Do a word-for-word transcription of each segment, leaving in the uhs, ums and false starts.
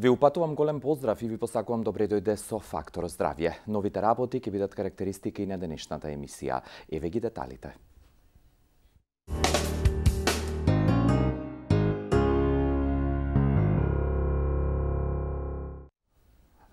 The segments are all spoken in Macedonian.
Ви упатувам голем поздрав и ви посакувам добре дојде со Фактор здравје. Новите работи ќе бидат карактеристики и на денешната емисија. Еве ги деталите.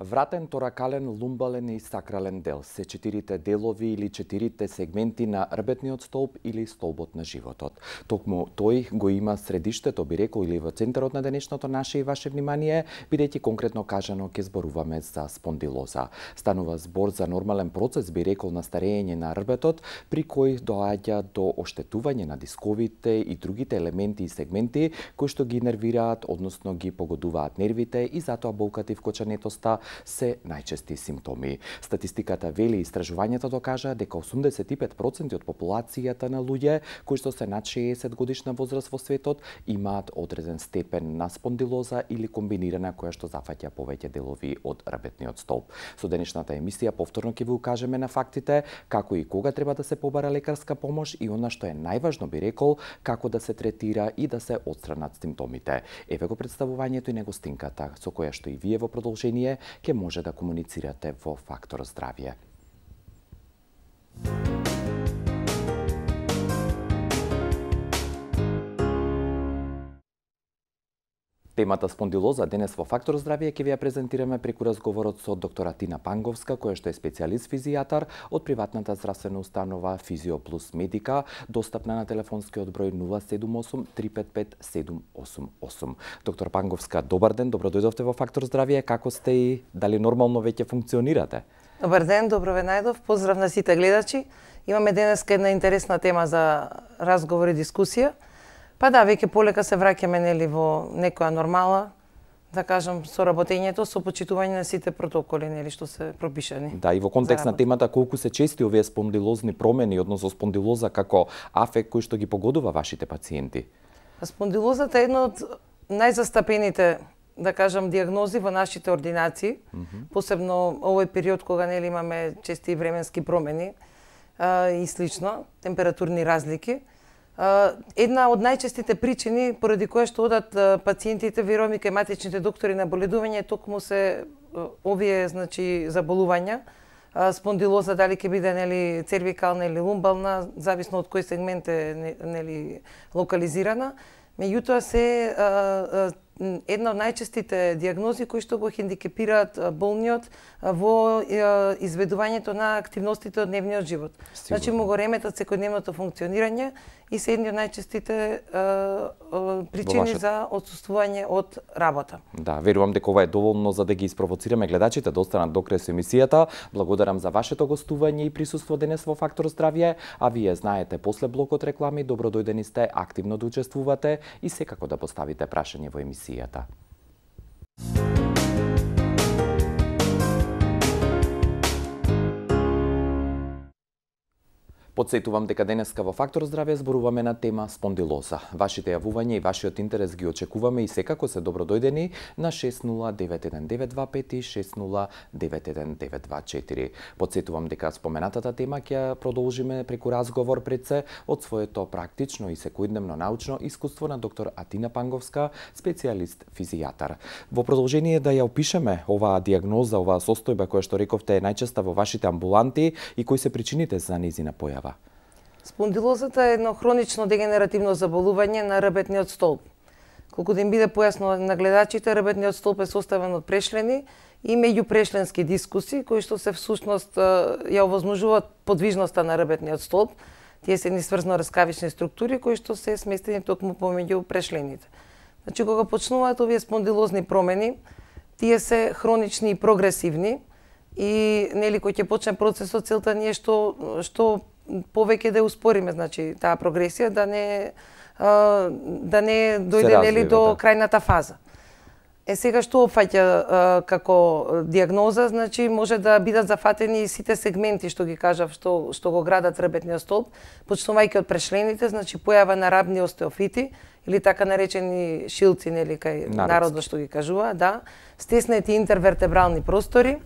Вратен, торакален, лумбален и сакрален дел се четирите делови или четирите сегменти на рбетниот столб или столбот на животот. Токму тој го има средиштето, би рекол, или во центарот на денешното наше и ваше внимание, бидејќи конкретно кажано ќе зборуваме за спондилоза. Станува збор за нормален процес, би рекол, на старење на рбетот, при кој доаѓа до оштетување на дисковите и другите елементи и сегменти кои што ги нервираат, односно ги погодуваат нервите и затоа болката и вкочанетоста се најчести симптоми. Статистиката вели, истражувањето докажа дека осумдесет и пет проценти од популацијата на луѓе кои што се над шеесет годишна возраст во светот имаат одреден степен на спондилоза или комбинирана која што зафаќа повеќе делови од рбетниот столб. Со денешната емисија повторно ќе ви укажеме на фактите како и кога треба да се побара лекарска помош и она што е најважно, би рекол, како да се третира и да се отстранат симптомите. Еве го представувањето и негостинката со која што и вие во продолжение ќе може да комуницирате во Фактор здравје. Темата спондилоза денес во Фактор здравје ќе ви ја презентираме преку разговорот со доктор Атина Панговска, која што е специјалист физијатар од приватната здравствена установа Физио Плюс Медика, достапна на телефонскиот број нула седум осум три пет пет седум осум осум. Доктор Панговска, добар ден, добро дојдовте во Фактор здравје. Како сте и дали нормално веќе функционирате? Добар ден, добро ве најдов. Поздрав на сите гледачи. Имаме денеска една интересна тема за разговор и дискусија. Па да, веќе полека се враќаме нели во некоја нормала, да кажам, со работењето, со почитување на сите протоколи нели што се пропишани. Да, и во контекст на темата колку се чести овие спондилозни промени, односно спондилоза како афект кој што ги погодува вашите пациенти? Спондилозата е една од најзастапените, да кажам, диагнози во нашите ординации, mm -hmm. посебно овој период кога нели имаме чести временски промени а, и слично, температурни разлики. Една од најчестите причини поради која што одат пациентите верувам и кај матичните доктори на боледување токму се овие значи заболувања. Спондилоза дали ќе биде нели цервикална или лумбална, зависно од кој сегмент е нели локализирана. Меѓутоа се а, а, една од најчестите диагнози кои што го хендикепираат болниот во а, изведувањето на активностите од дневниот живот. Сигурно. Значи му го реметат секојдневното функционирање и се едни од најчестите а, а, причини вашет... за отсуствување од работа. Да, верувам дека ова е доволно за да ги испровоцираме гледачите да останат до крај со емисијата. Благодарам за вашето гостување и присуство денес во Фактор здравје, а вие знаете после блокот реклами добро дојдени сте активно да учествувате и секако да поставите прашање во емисијата. Подсетувам дека денеска во Фактор здравје зборуваме на тема спондилоза. Вашите јавувања и вашиот интерес ги очекуваме и секако се добро дојдени на шест нула девет еден девет два пет и шест нула девет еден девет два четири. Подсетувам дека споменатата тема ќе ја продолжиме преку разговор пред се од своето практично и секојдневно научно искуство на доктор Атина Панговска, специјалист физијатар. Во продолжение да ја опишеме оваа диагноза, оваа состојба која што рековте е најчеста во вашите амбуланти и кои се причините за нејзина појава. Спондилозата е едно хронично дегенеративно заболување на рбетниот столб. Колку да им биде појасно на гледачите, рбетниот столб е составен од прешлени и меѓупрешленски дискуси, кои што се всушност ја овозможуваат подвижноста на рбетниот столб. Тие се едни сврзно раскавични структури кои што се сместени токму помеѓу прешлените. Значи кога почнуваат овие спондилозни промени, тие се хронични и прогресивни и нели кој ќе почне процесот, целта ни е што што повеќе да успориме, значи таа прогресија да не а, да не дојде нели до да. крајната фаза. Е сега што опфаќа како диагноза, значи може да бидат зафатени сите сегменти што ги кажав што што го градат рбетниот столб, почнувајќи од прешлените, значи појава на рабни остеофити или така наречени шилци нели кај народот што ги кажува, да, стеснети интервертебрални простори.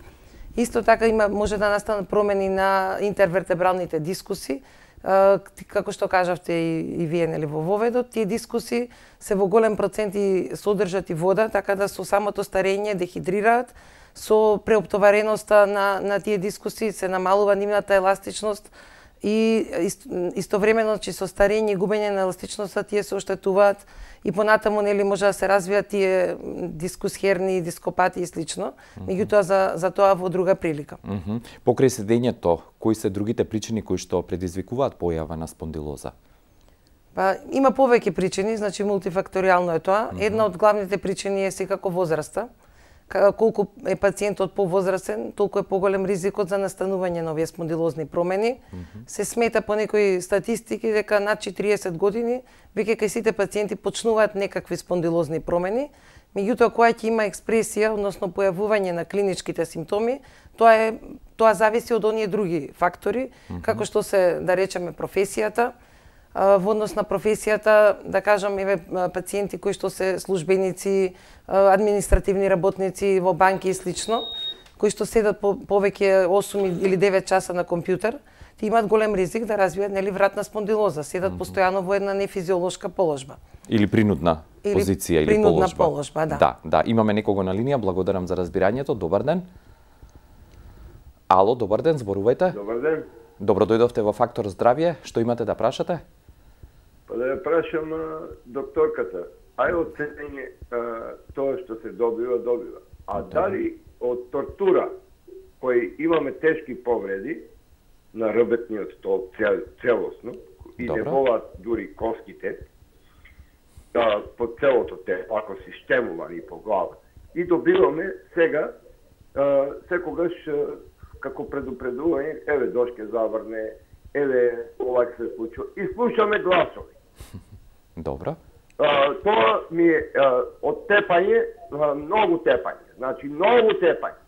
Исто така има може да настанат промени на интервертебралните дискуси, како што кажавте и, и вие нели во воведот, тие дискуси се во голем процент и содржат и вода, така да со самото старење дехидрираат, со преоптовареноста на, на тие дискусии се намалува нивната еластичност и истовремено че со старење и губење на еластичноста тие се оштетуваат и понатаму нели може да се развијат тие дискусхерни, дископати и слично, меѓутоа за за тоа во друга прилика. Mm -hmm. Покрај седењето, кои се другите причини кои што предизвикуваат појава на спондилоза? Па има повеќе причини, значи мултифакторијално е тоа. Mm -hmm. Една од главните причини е секако возраста. Колку е пациентот повозрастен, толку е поголем ризикот за настанување на овие спондилозни промени. Mm -hmm. Се смета по некои статистики дека над четириесет години веќе кај сите пациенти почнуваат некакви спондилозни промени. Меѓутоа кога ќе има експресија, односно појавување на клиничките симптоми, тоа е тоа зависи од оние други фактори, mm -hmm. како што се, да речеме, професијата. Во однос на професијата, да кажам, еве пациенти кои што се службеници, административни работници во банки и слично, кои што седат по, повеќе осум или девет часа на компјутер, ти имаат голем ризик да развијат нели вратна спондилоза, седат mm -hmm. постојано во една нефизиолошка положба. Или принудна или позиција или принудна положба. положба, да. Да, да, имаме некого на линија, благодарам за разбирањето. Добар ден. Ало, добар ден, зборувајте. Добар ден. Добро дојдовте во Фактор здравје. Што имате да прашате? Па да ја прашам а, докторката, ај оценење тоа што се добива, добива. А Добре. дали од тортура, кои имаме тешки повреди на ребетниот столб цел, целосно, и Добро. не болат дури коските, а, по целото те, ако си штемувани по глава. И добиваме сега, а, секогаш, а, како предупредување, еве дошке заврне, еве ова ќе се случува. И слушаме гласови. Добро. А, тоа ми е а, од тепање, а, многу тепање. Значи, многу тепање.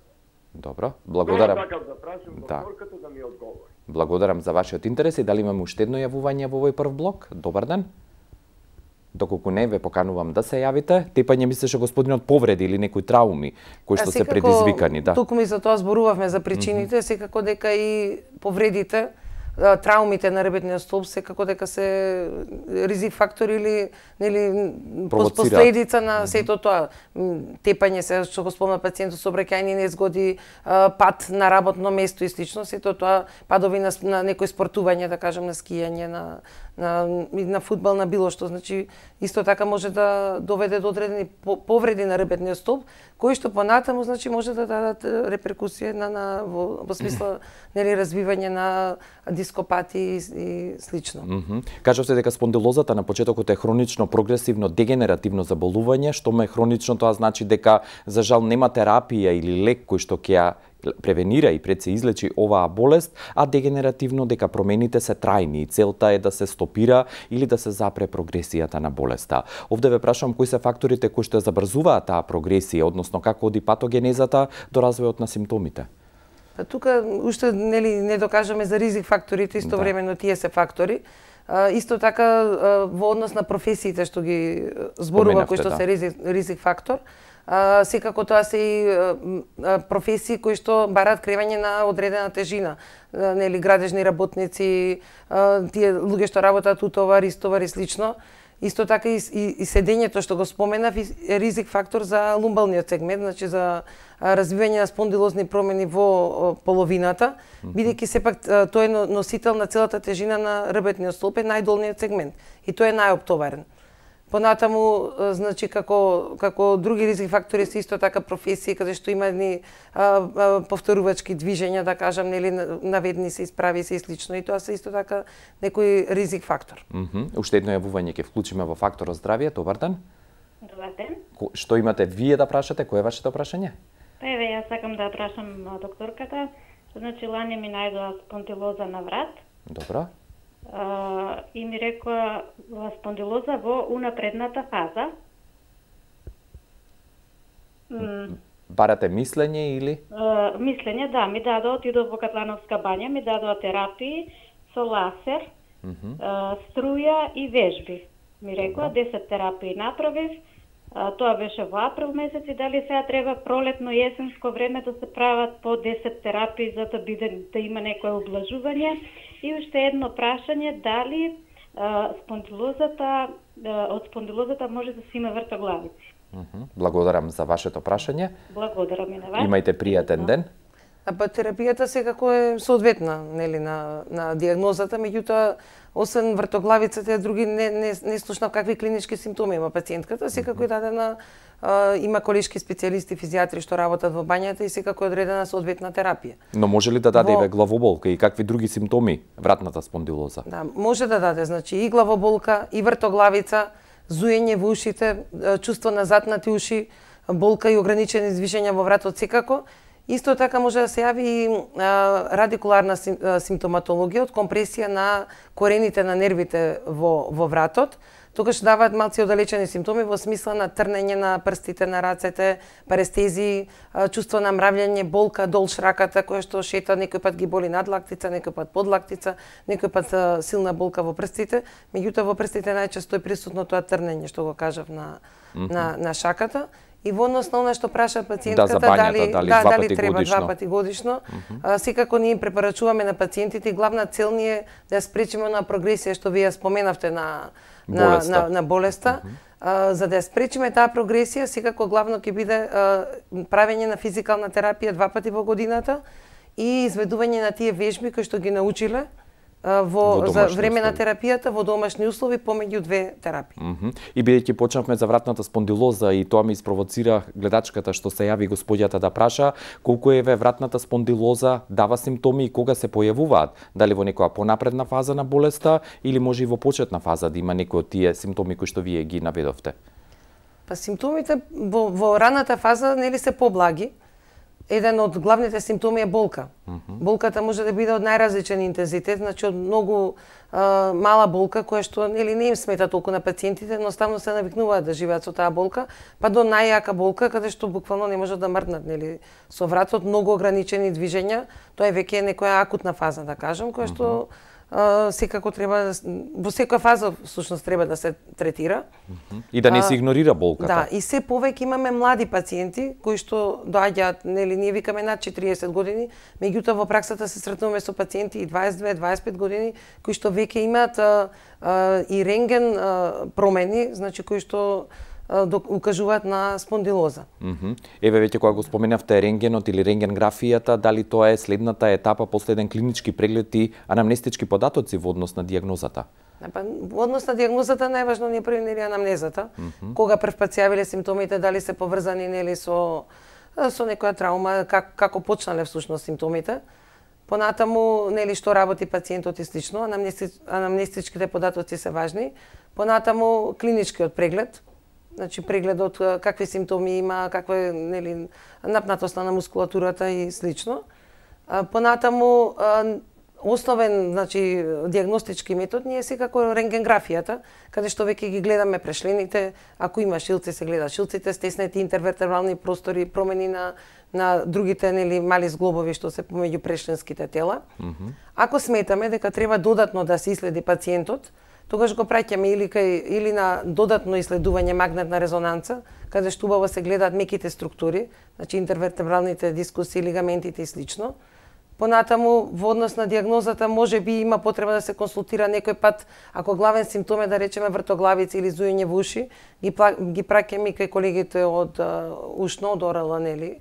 Добро. Благодарам. Тоа сакам да прашам Да. докторката да ми одговори. Благодарам за вашиот интерес и дали имаме уште едно јавување во овој прв блок? Добар ден. Доколку не, ве поканувам да се јавите. Тепање мислеше господинот повреди или некои трауми кои што се предизвикани, да. Туку ми за тоа зборувавме за причините, mm -hmm. секако дека и повредите, траумите на ребетниот столб секако дека се ризик фактор или нели последица на сето тоа. Тепање се што го спомна пациентот со обраќајни незгоди, пат на работно место и слично, сето тоа падови на, на некои спортување, да кажам, на скијање, на на на фудбал, на било што, значи исто така може да доведе до одредени повреди на ребетниот столб, кои што понатаму значи може да дадат реперкусија на, на во, во смисла нели развивање на дископати и, и слично. Mm -hmm. Кажавте дека спондилозата на почетокот е хронично прогресивно дегенеративно заболување, што ме хронично тоа значи дека за жал нема терапија или лек кој што ќе ја превенира и пред се излечи оваа болест, а дегенеративно дека промените се трајни и целта е да се стопира или да се запре прогресијата на болеста. Овде ве прашувам кои се факторите кои што забрзуваат таа прогресија, односно како оди патогенезата до развојот на симптомите? Тука уште нели не докажаме за ризик факторите, истовремено тие се фактори. А, исто така во однос на професиите што ги зборува кои што да. се ризик, ризик фактор, а, секако тоа се и а, професии кои што бараат кревање на одредена тежина, а, нели градежни работници, а, тие луѓе што работат утовар, истовар и слично. Исто така и, и, и седењето што го споменав е ризик фактор за лумбалниот сегмент, значи за развивање на спондилозни промени во половината, бидејќи сепак тој е носител на целата тежина на ребетниот столб, е најдолниот сегмент и тој е најоптоварен. Понатаму, значи, како, како други ризик фактори се исто така професии, каде што има едни а, а, повторувачки движења, да кажам, нели, наведни се, исправи се и слично, и тоа се исто така некој ризик фактор. Mm -hmm. Уште едно јавување ќе вклучиме во Факторот здравје. Добар ден. Добар ден. Ко, што имате вие да прашате? Кој е вашето прашање? Па еве, јас сакам да прашам докторката. Значи, лане ми најдоа спондилоза на врат. Добро. Uh, и ми рекоа спондилоза во унапредната фаза. Mm. Барате мислење или? Uh, мислење, да, ми дадоа, отидов во Катлановска бања, ми дадоа терапии со ласер, mm -hmm. uh, струја и вежби. Ми рекоа, десет терапии направив, А, тоа беше во април месец и дали сега треба пролетно јесенско време да се прават по десет терапии за да биде да има некое облажување. И уште едно прашање, дали а, спондилозата а, од спондилозата може да се има вртоглавици? Благодарам за вашето прашање. Благодарам и на вас. Имајте пријатен ден. А па терапијата секако е соодветна, нели, на на дијагнозата, меѓутоа освен вртоглавицата и други не не не слушнав какви клинички симптоми има пациентката, секако е дадена а, има колешки специјалисти физијатри што работат во бањата и секако е одредена соодветна терапија. Но може ли да даде Во... и главоболка и какви други симптоми вратната спондилоза? Да, може да даде, значи и главоболка, и вртоглавица, зуење во ушите, чувство на затнати уши, болка и ограничени движења во вратот секако. Исто така може да се јави и радикуларна симптоматологија од компресија на корените на нервите во, во вратот. Тогаш даваат малци оддалечени симптоми во смисла на трнење на прстите, на рацете, парестезии, чувство на мрављење, болка долж раката, која што шета, некој пат ги боли надлактица, некој пат подлактица, некој пат силна болка во прстите. Меѓутоа во прстите најчесто е присутно тоа трнење што го кажав на, mm -hmm. на, на шаката. И во однос на она што праша пациентката, да, бањата, дали, дали, да, два дали пати треба годишно. два пати годишно, Mm -hmm. а, секако ние им препорачуваме на пациентите и главна цел ни е да ја спречиме на прогресија што вие споменавте на на болеста, на, на болеста. Mm -hmm. а, за да ја спречиме таа прогресија, секако главно ќе биде а, правење на физикална терапија два пати во годината и изведување на тие вежби кои што ги научиле во, во за време на терапијата во домашни услови помеѓу две терапии. Mm -hmm. И бидејќи почнавме за вратната спондилоза и тоа ми испровоцира гледачката што се јави господјата да праша колку е вратната спондилоза, дава симптоми и кога се појавуваат, дали во некоја понапредна фаза на болеста или може и во почетна фаза да има некои од тие симптоми кои што вие ги наведовте? Па симптомите во, во раната фаза нели се поблаги. Еден од главните симптоми е болка. Mm -hmm. Болката може да биде од најразличен интензитет, значи од многу а, мала болка која што нели не им смета толку на пациентите, но ставно се навикнуваат да живеат со таа болка, па до најјака болка каде што буквално не можат да мрднат, нели, со вратот, многу ограничени движења, тоа е веќе некоја акутна фаза, да кажам, која што mm -hmm. Uh, секако треба да, во секоја фаза всушност треба да се третира. Mm -hmm. И да не се игнорира болката. Да, и се повеќе имаме млади пациенти кои што доаѓаат, нели ние викаме над четириесет години, меѓутоа во праксата се сретнуваме со пациенти и дваесет и две дваесет и пет години кои што веќе имаат uh, uh, и рентген uh, промени, значи кои што укажуваат на спондилоза. Mm -hmm. Еве веќе кога го споменавте рентгенот или рентгенграфијата, дали тоа е следната етапа после еден клинички преглед и анамнестички податоци во однос на дијагнозата? Па, во однос на дијагнозата најважно ни е први нели анамнезата. Mm -hmm. Кога прв пат се јавиле симптомите, дали се поврзани нели со со некоја траума, как, како почнале всушност симптомите. Понатаму нели што работи пациентот и слично, анамнести, анамнестичките податоци се важни. Понатаму клиничкиот преглед, значи прегледот какви симптоми има, каква е нели напнатост на мускулатурата и слично. Понатаму основен, значи дијагностички метод ни е секако рентгенграфијата, каде што веќе ги гледаме прешлените, ако има шилци се гледа шилците, стеснети интервертебрални простори, промени на на другите нели мали зглобови што се помеѓу прешленските тела. Mm -hmm. Ако сметаме дека треба додатно да се иследи пациентот, тогаш го праќаме или кај или на додатно исследување магнетна резонанца, каде што убаво се гледаат меките структури, значи интервертебралните дискуси, лигаментите и слично. Понатаму во однос на дијагнозата може би има потреба да се консултира некој пат, ако главен симптом е да речеме вртоглавица или зуење во уши, ги ги праќаме кај колегите од ушно, од ОРЛ, нели,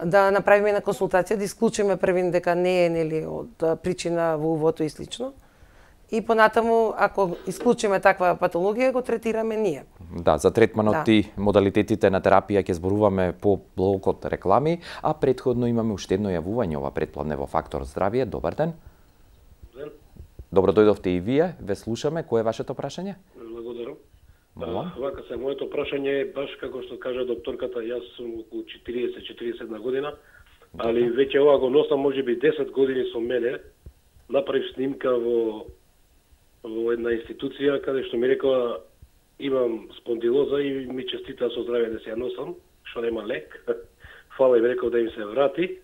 да направиме една консултација, да исклучиме првин дека не е нели од причина во увото и слично. И понатаму, ако исклучиме таква патологија, го третираме ние. Да, за третманот да. И модалитетите на терапија ќе зборуваме по блокот реклами, а претходно имаме уште едно јавување ова предплатне во Фактор здравје. Добар ден. Ден. Добро дојдовте и вие, ве слушаме. Кој е вашето прашање? Благодарам. Молам. Вака се, моето прашање е баш како што кажа докторката, јас сум околу четириесет четириесет на година, али веќе ова го носам можеби десет години со мене. Направив снимка во во една институција каде што ми рекоа имам спондилоза и ми честитаа со здравје да се ја носам, што нема лек. Фала им рекол да им се врати.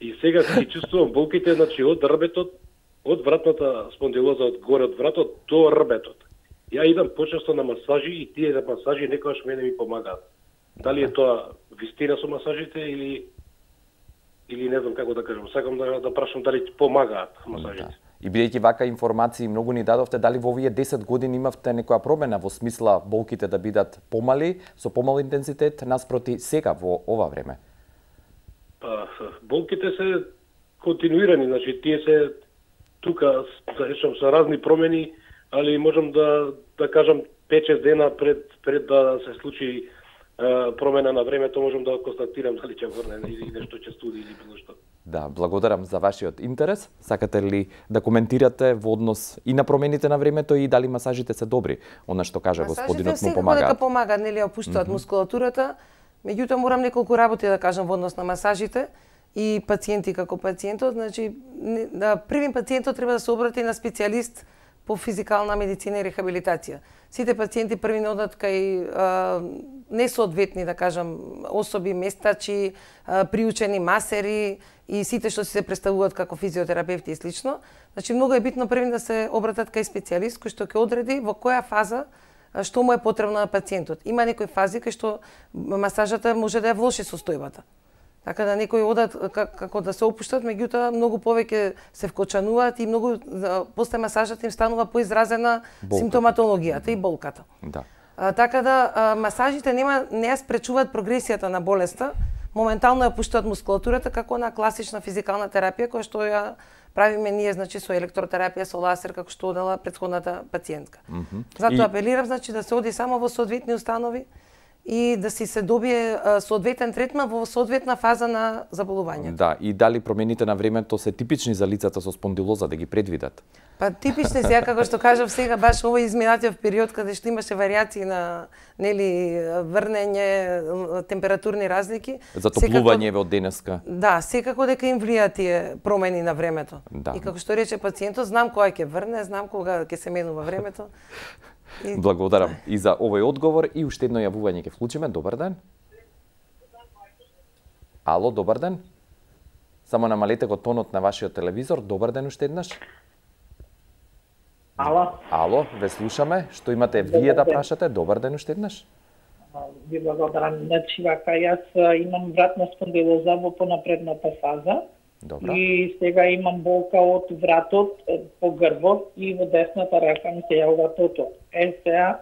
И сега си чувствувам болките, значи од рбетот, од вратната спондилоза, од горе од вратот до рбетот. Ја идам почесто на масажи и тие на масажи некогаш мене ми помагаат. Дали е тоа вистина со масажите или или не знам како да кажам, сакам да да прашам дали помагаат масажите. Да. И бидејќи вака информации многу ни дадовте, дали во овие десет години имавте некоја промена во смисла болките да бидат помали, со помал интензитет наспроти сега во ова време? Па, болките се континуирани, значи тие се тука, да речам, со разни промени, али можам да да кажам пет-шест дена пред пред да се случи е, промена на времето, можам да констатирам дали ќе врне или нешто ќе студи или било што. Да, благодарам за вашиот интерес. Сакате ли да коментирате во однос и на промените на времето и дали масажите се добри? Она што кажа господинот му помагаат. Масажите помагаат, нели опуштаат mm -hmm. мускулатурата. Меѓутоа морам неколку работи да кажам во однос на масажите и пациенти како пациентот, значи да првим пациентот треба да се обрати на специјалист по физикална медицина и рехабилитација. Сите пациенти први не одат кај а, несоодветни, да кажам, особи, местачи, а, приучени масери и сите што се представуваат како физиотерапевти и слично. Значи многу е битно први да се обратат кај специјалист кој што ќе одреди во која фаза што му е потребно на пациентот. Има некои фази кај што масажата може да ја влоши состојбата. Така да некои одат како да се опуштат, меѓутоа многу повеќе се вкочануваат и многу после масажата им станува поизразена болка. Симптоматологијата и болката. Да. А, така да а, масажите нема не ја спречуваат прогресијата на болеста, моментално ја пуштаат мускулатурата како на класична физикална терапија која што ја правиме ние, значи со електротерапија, со лазер, како што одела претходната пациентка. Mm -hmm. Затоа и... апелирам, значи да се оди само во соодветни установи и да си се добие соодветен третман во соодветна фаза на заболувањето. Да, и дали промените на времето се типични за лицата со спондилоза да ги предвидат? Па типични се, како што кажав сега, баш овој изминатиот период каде што имаше варијации на нели врнење, температурни разлики, затоплување во денеска. Да, секако дека им влијаат тие промени на времето. Да. И како што рече пациентот, знам кога ќе врне, знам кога ќе се менува времето. И... Благодарам и за овој одговор и уште едно јавување ќе вклучиме. Добар ден. Ало, добар ден. Само намалете го тонот на вашиот телевизор. Добар ден уште еднаш. Ало. Ало, ве слушаме. Што имате вие да прашате? Добар ден уште еднаш. Ви благодарам. Значи, вака, јас имам вратна спондилоза во понапредната фаза. Добра. И сега имам болка од вратот по грбот и во десната рака ми се јавува тото. Е сега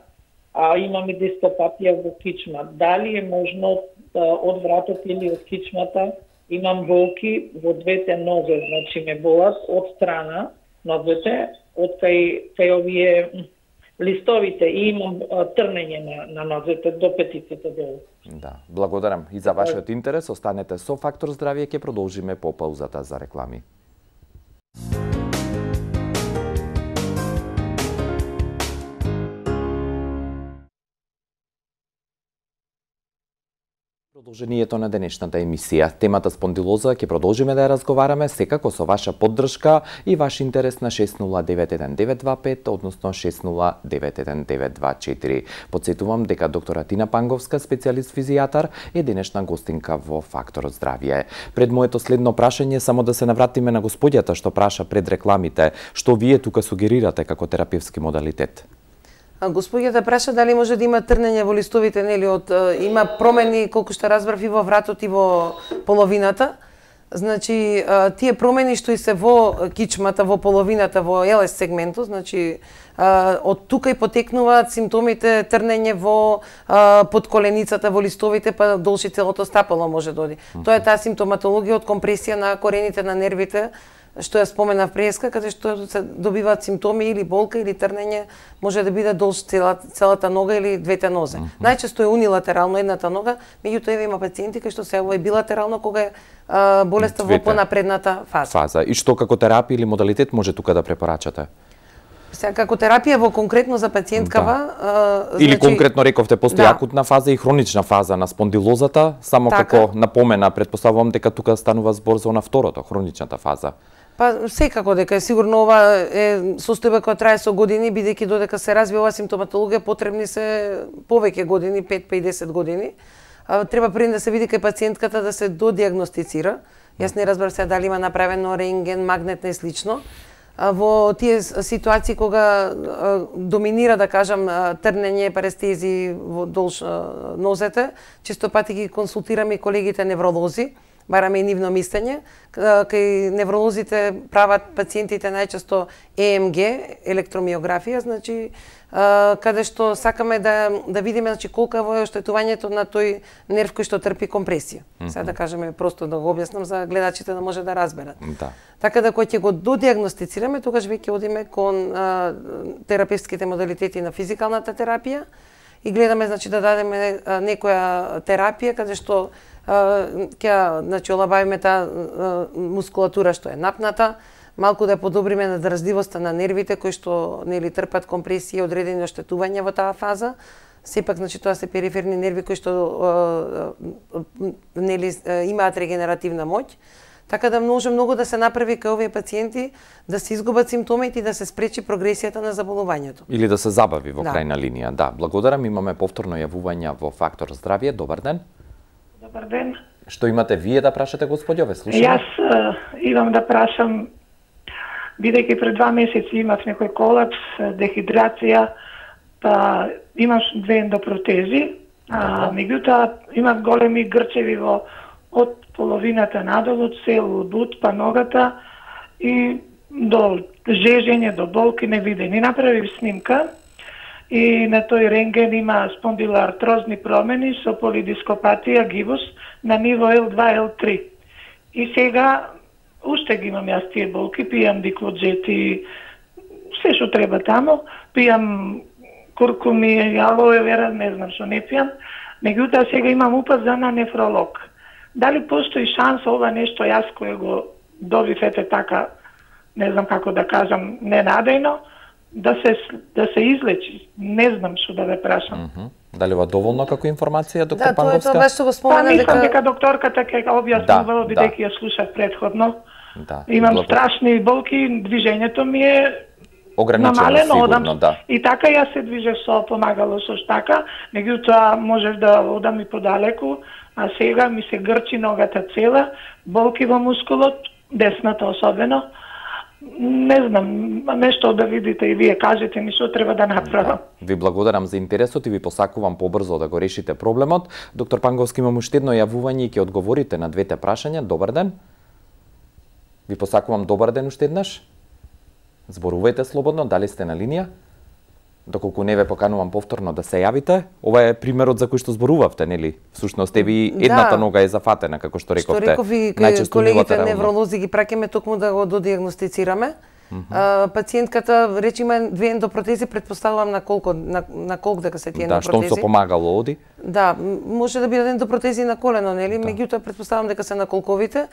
а, имам и дископатија во кичма. Дали е можно од вратот или од кичмата имам болки во двете нозе, значи ме болат од страна нозете, од кај, кај овие листовите и имам трнење на, на нозете до петиците долу. Да, благодарам и за вашиот интерес. Останете со Фактор здравје, ќе продолжиме по паузата за реклами. Продолжението на денешната емисија. Темата спондилоза ќе продолжиме да ја разговараме секако со ваша поддршка и ваш интерес на шест нула девет еден девет два пет, односно шест нула девет еден девет два четири. Подсетувам дека доктора Тина Панговска, специјалист физијатар, е денешна гостинка во Фактор здравје. Пред моето следно прашање, само да се навратиме на господјата што праша пред рекламите, што вие тука сугерирате како терапевски модалитет? Господјата праша дали може да има трнење во листовите, нели, од има промени колку што разбрав и во вратот и во половината. Значи тие промени што и се во кичмата, во половината, во ел ес сегментот, значи од тука и потекнуваат симптомите трнење во подколеницата, во листовите, па должи целото стапало може да оди. Тоа е таа симптоматологија од компресија на корените на нервите, што ја споменав преска, каде што се добиваат симптоми или болка или трнење, може да биде долж целата, целата нога или двете нозе. Mm -hmm. Најчесто е унилатерално едната нога, меѓутоа има пациенти кои што се јавува и билатерално кога е а, болеста во понапредната фаза. фаза. И што како терапија или модалитет може тука да препорачате? Сега како терапија во конкретно за пациенткава, да. а, или значи, конкретно рековте постои да. акутна фаза и хронична фаза на спондилозата, само така. Како напомена, претпоставувам дека тука станува збор за на второто, хроничната фаза. Па секако дека сигурно ова е состојба која трае со години, бидејќи додека се развива оваа симптоматологија потребни се повеќе години, пет па и десет години. А, треба пред да се види кај пациентката да се додиагностицира. Јас не разбрав се дали има направено рентген, магнетна и слично. во тие ситуации кога доминира, да кажам, трнење, парестези во долж нозете, често пати ги консултираме и колегите невролози, бараме и нивно мислење. Кај невролозите прават пациентите најчесто Е Ем Ге, електромиографија, значи каде што сакаме да да видиме значи колку е оштетувањето на тој нерв кој што трпи компресија. Mm -hmm. Сега да кажеме просто да го објаснам за гледачите да може да разберат. Да. Така да кога ќе го додиагностицираме, тогаш веќе одиме кон а, терапевтските модалитети на физикалната терапија и гледаме значи да дадеме а, некоја терапија каде што ќе значи олабавиме таа мускулатура што е напната, малку да подобриме надразливоста на нервите кои што нели трпат компресија и одредени оштетувања во таа фаза. Сепак значи тоа се периферни нерви кои што нели имаат регенеративна моќ. Така да може многу да се направи кај овие пациенти да се изгубат симптомите и да се спречи прогресијата на заболувањето. Или да се забави во да. крајна линија. Да, благодарам. Имаме повторно јавување во Фактор здравје. Добар ден. Добар ден. Што имате вие да прашате, господјо, ве слушаме? Јас uh, имам да прашам, бидејќи пред два месеци имав некој колапс, дехидрација, па имаш две ендопротези, а меѓутоа имав големи грчеви во од половината надолу, цел од ут па ногата и до жежење, до болки невидени. Направив снимка и на тој рентген има спондилоартрозни промени со полидископатија, гибус на ниво Ел два Ел три. И сега уште ги имам јас тие болки, пијам диклоджети, се што треба тамо, пијам куркуми, алоe вера, не знам што не пијам, меѓутоа сега имам упаза на нефролог. Дали постои шанса ова нешто јас кој го добив ете така, не знам како да кажам, ненадејно, да се да се излечи? Не знам што да ве прашам. Mm -hmm. Дали ова доволно како информација, доктор да, Панговска? Да, тоа баш што го спомена па, мислам дека... дека докторката ќе објаснува, да, бидејќи ја слушав предходно. Да. Имам Благо... страшни болки, движењето ми е ограничено, намалено, сигурно, одам, да. И така јас се движев со помагало со штака, меѓутоа можев да одам и подалеку, а сега ми се грчи ногата цела, болки во мускулот, десната особено. Не знам, нешто да видите и вие кажете ми што треба да направам. Да. Ви благодарам за интересот и ви посакувам побрзо да го решите проблемот. Доктор Панговски, имам уште едно јавување и ќе одговорите на двете прашања. Добар ден. Ви посакувам добар ден уште еднаш. Зборувајте слободно, дали сте на линија? Доколку не ве поканувам повторно да се јавите, ова е примерот за кој што зборувавте, нели? Всушност, еви едната да. нога е зафатена, како што рековте. Што реков и колегите невролози ги праќаме токму да го додиагностицираме. Mm -hmm. а, пациентката, речи, има две ендопротези, предпоставувам на колку, на, на колку дека се тие да, ендопротези. Да, што со помагало оди? Да, може да бидат ендопротези на колено, нели? Да. Меѓутоа, предпоставувам дека се на колковите,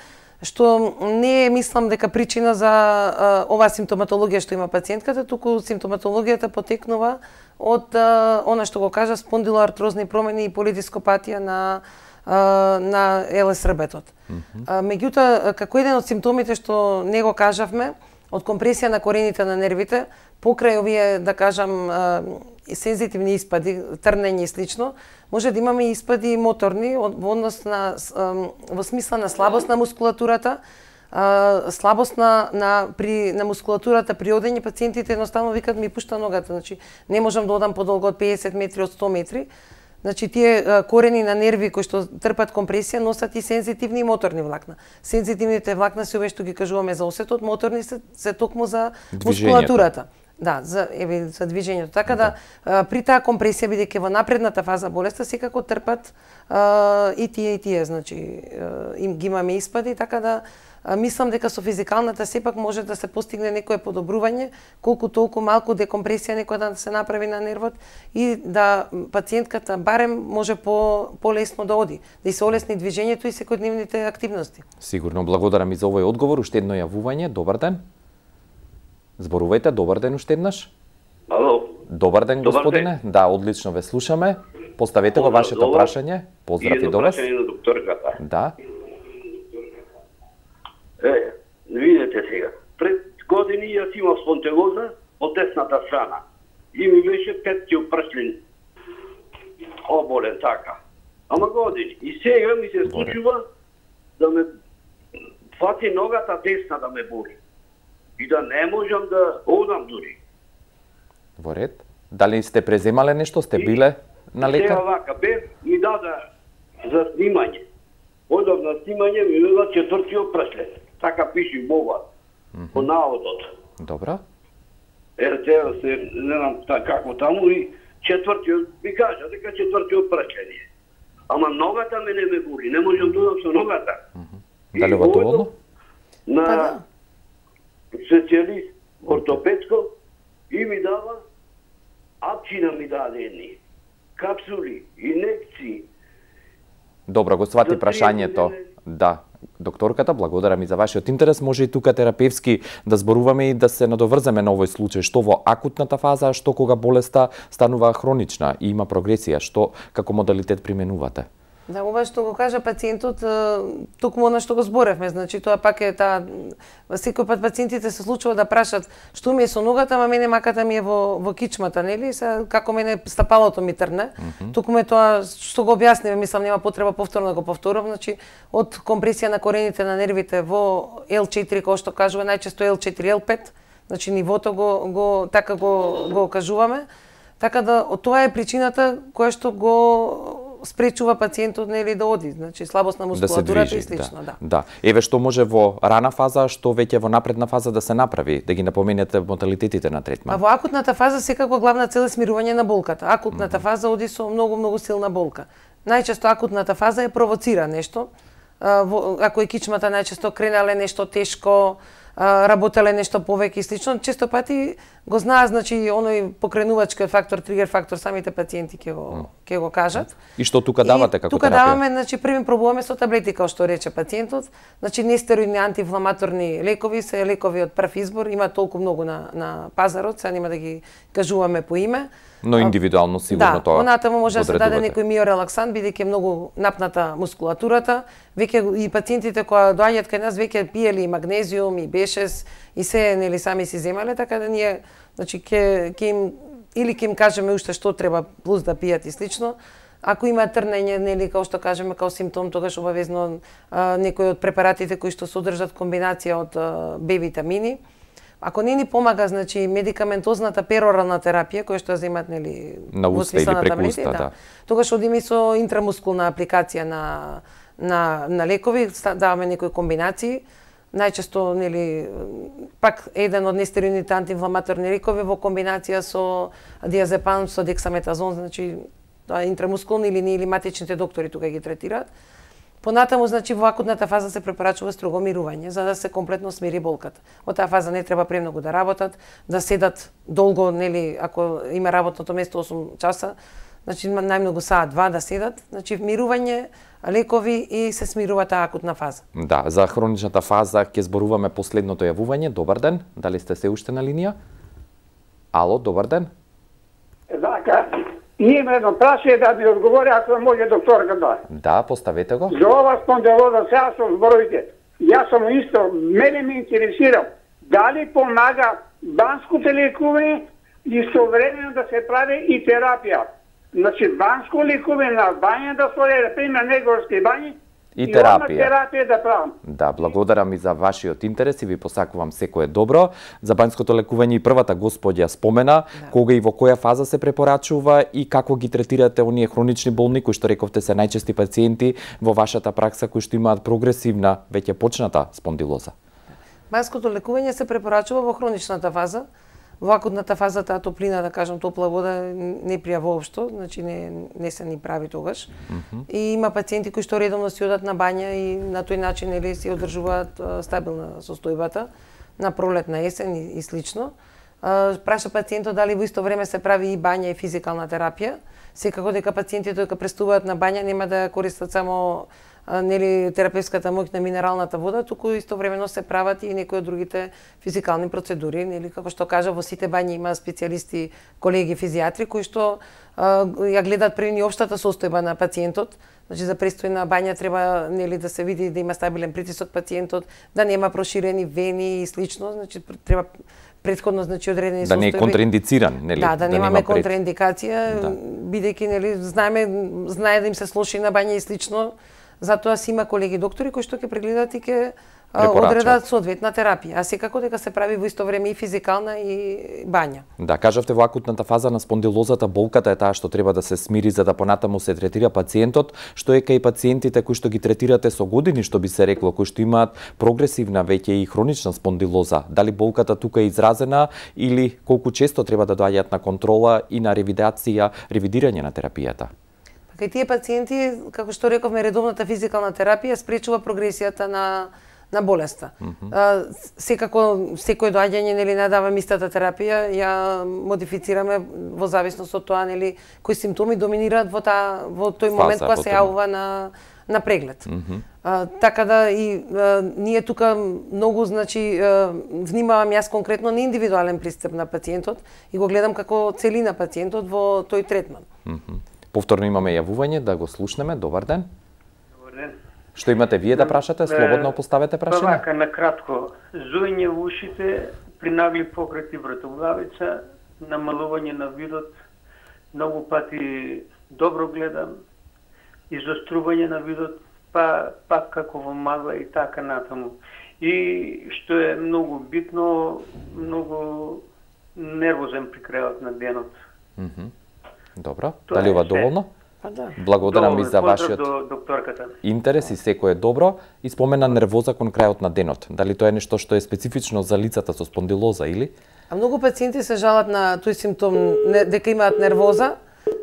што не е, мислам, дека причина за а, оваа симптоматологија што има пациентката, туку симптоматологијата потекнува од а, она што го кажа спондилоартрозни промени и полидископатија на а, на Ел Ес рбетот. Mm -hmm. Меѓутоа, како еден од симптомите што не го кажавме, од компресија на корените на нервите, покрај овие, да кажам, сензитивни испади, трнење и слично, може да имаме испади моторни во однос на во смисла на слабост на мускулатурата, слабост на на при на мускулатурата при одење. Пациентите едноставно викаат ми пушта ногата, значи не можам да одам подолго од педесет метри, од сто метри. Значи тие корени на нерви кои што трпат компресија носат и сензитивни и моторни влакна. Сензитивните влакна се овие што ги кажуваме за осетот, моторни се, се токму за мускулатурата. Да, за еве за движењето. Така да, да при таа компресија, бидејќи во напредната фаза болеста секако трпат а, и тие и тие, значи им ги имаме испади, така да а, мислам дека со физикалната сепак може да се постигне некое подобрување, колку толку малку декомпресија некоја да се направи на нервот и да пациентката барем може по полесно да оди, да се олесни движењето и секојдневните активности. Сигурно, благодарам и за овој одговор. Уште едно јавување. Добар ден. Зборувајте, добар ден уште еднаш. Ало. Добар ден, добар господине. Ден. Да, одлично ве слушаме. Поставете го вашето прашање. Поздрав и до вас. И на докторката. Да. Е, видете сега. Пред години јас имав спонтелоза од десната страна. И ми беше петтиот пршлин оболен така. Ама години. И сега ми се случува да ме фати ногата десна да ме боли. и да не можам да одам дури. Во ред. Дали сте преземале нешто, сте биле на лекар? Сега вака, бе, ми дада за снимање. Одов на снимање, ми вела четвртиот преслед. Така пише бова, mm -hmm. по наводот. Добра. Ер тева се, не знам како таму, и четвртиот, ми кажа дека четвртиот преслед е. Ама ногата ме не ме боли, не можам да одам со ногата. Mm -hmm. Дали ова доволно? На Па да. специјалист ортопедско и ми дава апчина ми даде едни. Капсули, инекции. Добро, го свати За прашањето. триесет Да, докторката, благодарам и за вашиот интерес. Може и тука терапевски да зборуваме и да се надоврземе на овој случај, што во акутната фаза, што кога болеста станува хронична и има прогресија, што како модалитет применувате? Да, ова што го кажа пациентот, токму она што го зборевме, значи тоа пак е таа секој пат пациентите се случува да прашат што ми е со ногата, ама мене маката ми е во во кичмата, нели? Се како мене стапалото ми трне. Mm -hmm. Токму е тоа што го објаснивме, мислам нема потреба повторно да го повторам, значи од компресија на корените на нервите во Ел четири, кој што кажува најчесто Ел четири, Ел пет, значи нивото го го така го го кажуваме. Така да тоа е причината која што го спречува пациентот нели да оди, значи слабост на мускулатурата да и слично, да. да. Да. Еве што може во рана фаза, што веќе во напредна фаза да се направи, да ги напоменете модалитетите на третман. А во акутната фаза секако главна цел е смирување на болката. Акутната mm -hmm. фаза оди со многу многу силна болка. Најчесто акутната фаза е провоцира нешто. Ако е кичмата најчесто кренале нешто тешко, работеле нешто повеќе и слично, често пати го знаат, значи оној покренувачки фактор, тригер фактор, самите пациенти ќе го ќе го кажат. И што тука давате како тука терапија? Тука даваме, значи први пробуваме со таблети, како што рече пациентот, значи нестероидни антиинфламаторни лекови, се лекови од прв избор, има толку многу на на пазарот, сега нема да ги кажуваме по име. Но индивидуално сигурно да, тоа. Да, понатаму може да се даде некој миорелаксан, бидејќи многу напната мускулатурата. Веќе и пациентите кои доаѓаат кај нас веќе пиеле и магнезиум и бешес и се нели сами си земале, така да ние значи ќе ќе им или ќе им кажеме уште што треба плюс да пијат и слично. Ако има трнење, нели како што кажеме као симптом, тогаш обавезно а, некои од препаратите кои што содржат комбинација од а, Б витамини. Ако не ни помага, значи медикаментозната перорална терапија која што ја земат нели на уста или преку уста, да. да. Тогаш одиме со интрамускулна апликација на на на лекови, даваме некои комбинации. Најчесто нели пак еден од нестероидните антиинфламаторни лекови во комбинација со диазепам, со дексаметазон, значи тоа интрамускулни или не или матичните доктори тука ги третираат. Понатаму, значи, во акутната фаза се препорачува строго мирување, за да се комплетно смири болката. Во таа фаза не треба премногу да работат, да седат долго, нели, ако има работното место осум часа, значи најмногу саат два да седат, значи мирување, лекови и се смирува таа акутна фаза. Да, за хроничната фаза ќе зборуваме последното јавување. Добар ден, дали сте се уште на линија? Ало, добар ден. Така, има едно прашање да ми одговори, ако може докторка да. Да, поставете го. За ова спондилоза сега со зборовите. Јас сум исто, мене ме интересира дали помага банското лекување и современо да се прави и терапија. Значи банско лекување на бања да стои, да пример негорски бањи и терапија. И терапија да правам. Да, благодарам и за вашиот интерес и ви посакувам секое добро. За банското лекување и првата господја спомена, да. Кога и во која фаза се препорачува и како ги третирате оние хронични болни кои што рековте се најчести пациенти во вашата пракса кои што имаат прогресивна, веќе почната спондилоза. Банското лекување се препорачува во хроничната фаза. Во акутната фаза таа топлина, да кажам, топла вода не прија воопшто, значи не не се ни прави тогаш. Mm -hmm. И има пациенти кои што редовно си одат на бања и на тој начин нели си одржуваат стабилна состојбата на пролет, на есен и, и слично. Праша пациентот дали во исто време се прави и бања и физикална терапија. Секако дека пациентите кога приступуваат на бања нема да користат само нели терапевската моќ на минералната вода, туку истовремено се прават и некои од другите физикални процедури, нели како што кажа во сите бањи има специјалисти, колеги физијатри кои што а, ја гледаат прени општата состојба на пациентот. Значи за престојна бања треба нели да се види да има стабилен притисок пациентот, да нема проширени вени и слично, значи треба претходно значи одредени да состојби. не е контраиндициран, нели? Да, да, да немаме нема пред... контраиндикација, да. Бидејќи нели знаеме знае да им се слоши на бања и слично. Затоа си има колеги доктори кои што ќе прегледаат и ќе одредат соодветна терапија, а секако дека се прави во исто време и физикална и бања. Да, кажавте во акутната фаза на спондилозата болката е таа што треба да се смири за да понатаму се третира пациентот, што е кај пациентите кои што ги третирате со години, што би се рекло, кои што имаат прогресивна веќе и хронична спондилоза. Дали болката тука е изразена или колку често треба да доаѓаат на контрола и на ревидација, ревидирање на терапијата? Кај тие пациенти, како што рековме, редовната физикална терапија спречува прогресијата на на болеста. Mm -hmm. Секако секој доаѓање нели не дава истата терапија, ја модифицираме во зависност од тоа нели кои симптоми доминираат во таа во тој момент кога се јавува на на преглед. Mm -hmm. а, така да и а, ние тука многу значи а, внимавам јас конкретно на индивидуален пристап на пациентот и го гледам како целина пациентот во тој третман. Mm -hmm. Повторно имаме јавување, да го слушнеме. Добар ден. Добар ден. Што имате вие да прашате? Слободно поставете прашање. Вака, на кратко, зуење во ушите, при нагли пократи вратоглавица, намалување на видот, многу пати добро гледам, изострување на видот, па пак како во магла и така натаму. И што е многу битно, многу нервозен при крајот на денот. Mm -hmm. Добро. Тоа Дали ова доволно? Па да. Благодарам ви за вашиот до докторката. интерес и секој е добро. И спомена нервоза кон крајот на денот. Дали тоа е нешто што е специфично за лицата со спондилоза или? А многу пациенти се жалат на тој симптом не, дека имаат нервоза.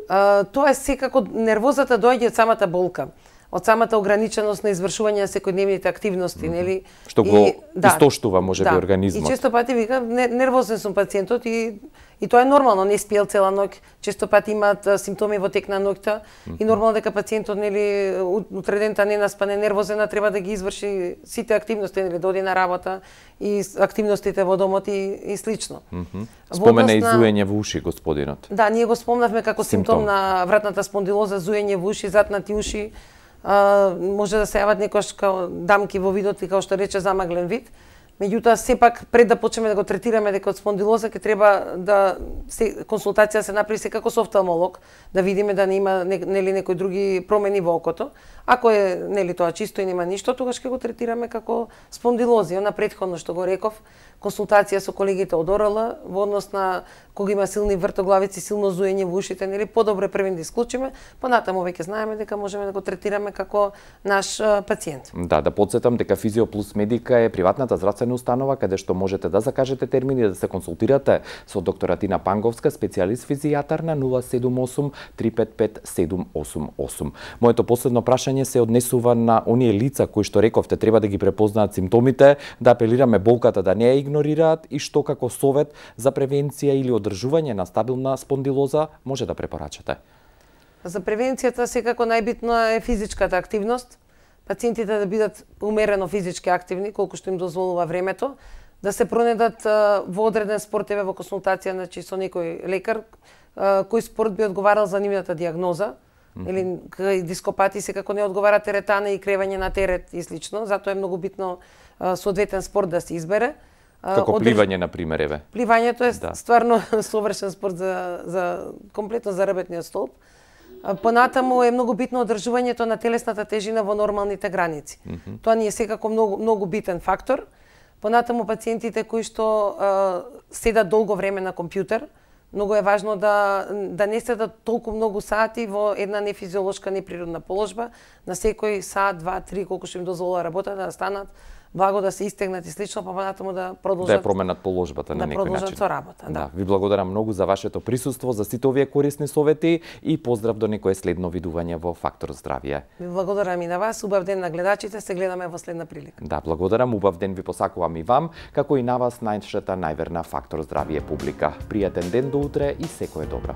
А, тоа е секако нервозата доаѓа од самата болка, од самата ограниченост на извршување на секојдневните активности, mm -hmm. нели? Што го и, да, истоштува можеби да. организмот. И често пати вика нервозен сум пациентот и И тоа е нормално, не спиел цела ноќ, често пати имаат симптоми во тек на ноќта mm -hmm. и нормално дека пациентот нели утредента не наспане, нервозена, треба да ги изврши сите активности, нели доди на работа и активностите во домот и, и слично. Mm -hmm. Спомена и зуење во уши господинот. Да, ние го спомнавме како симптом, симптом на вратната спондилоза, зуење во уши, затнати уши, а, може да се јават некош као дамки во видот и како што рече замаглен вид. Меѓутоа, сепак, пред да почнеме да го третираме дека од спондилоза, ќе треба да се, консултација се направи секако со офталмолог, да видиме да не има нели некои други промени во окото. Ако е нели тоа чисто и нема ништо, тогаш ќе го третираме како спондилозија. На претходно што го реков, консултација со колегите од ОРЛ во однос на кога има силни вртоглавици, силно зуење во ушите, нели подобро е првен да исклучиме, понатаму веќе знаеме дека можеме да го третираме како наш а, пациент. Да, да подсетам дека Физио Плюс Медика е приватната здравствена установа каде што можете да закажете термини да се консултирате со доктора Тина Панговска, специјалист физијатар на нула седум осум три пет пет седум осум осум. Моето последно прашање се однесува на оние лица кои што рековте треба да ги препознаат симптомите, да апелираме болката да не ја игнорираат и што како совет за превенција или одржување на стабилна спондилоза може да препорачате? За превенцијата секако најбитно е физичката активност. Пациентите да бидат умерено физички активни, колку што им дозволува времето, да се пронедат во одреден спорт, еве во консултација значи со некој лекар, кој спорт би одговарал за нивната диагноза, mm -hmm. или кај дископати секако не одговара теретана и кревање на терет и слично, затоа е многу битно соодветен спорт да се избере. Како Одрж... пливање, на пример, еве. Пливањето е да. стварно совршен спорт за, за комплетно за рабетниот столб. Понатаму е многу битно одржувањето на телесната тежина во нормалните граници. Mm -hmm. Тоа ни е секако многу, многу битен фактор. Понатаму пациентите кои што а, седат долго време на компјутер, многу е важно да, да не седат толку многу сати во една нефизиолошка, неприродна положба, на секој сат, два, три, колку што им дозволува работа, да станат, благо да се истегнат и слично, па понатаму да продолжат да променат положбата на да некој начин. Да со работа, да. да. Ви благодарам многу за вашето присуство, за сите овие корисни совети и поздрав до некое следно видување во Фактор здравје. Ви благодарам и на вас, убав ден на гледачите, се гледаме во следна прилика. Да, благодарам, убав ден ви посакувам и вам, како и на вас најшата најверна Фактор здравје публика. Пријатен ден до утре и секое добро.